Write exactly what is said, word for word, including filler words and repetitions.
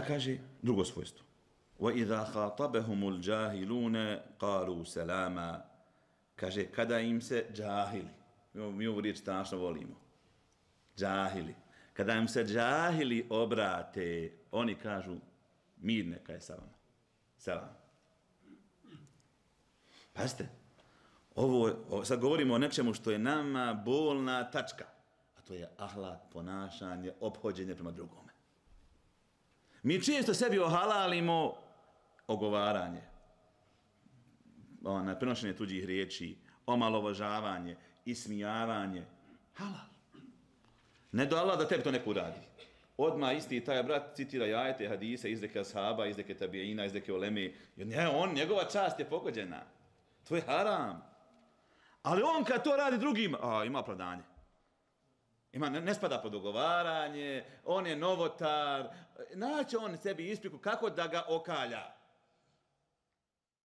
kaže drugo svojstvo. وَإِذَا خَاطَبَهُمُ الْجَاهِلُونَ قَالُوا سَلَامًا. Kaže, kada im se džahili, mi ovu riječ strašno volimo, džahili, kada im se džahili obrate, oni kažu, mir neka je sa vama. Selam. Pazite, ovo, sad govorimo o nečemu što je nama bolna tačka, a to je ahlak, ponašanje, ophođenje prema drugome. Mi često sebi ohalalimo ogovaranje, ono, prenošenje tuđih riječi, omalovažavanje, ismijavanje. Halal. Ne do Allah da tebi to neko uradi. Odmah isti taj brat citira ajete, hadise, izreke ashaba, izreke tabijina, izreke uleme. Ne, on, njegova čast je pogođena. To je haram. Ali on kad to radi drugim, a, ima opravdanje. Ima, ne, ne spada pod ogovaranje, on je novotar, naće on sebi ispriku kako da ga okalja.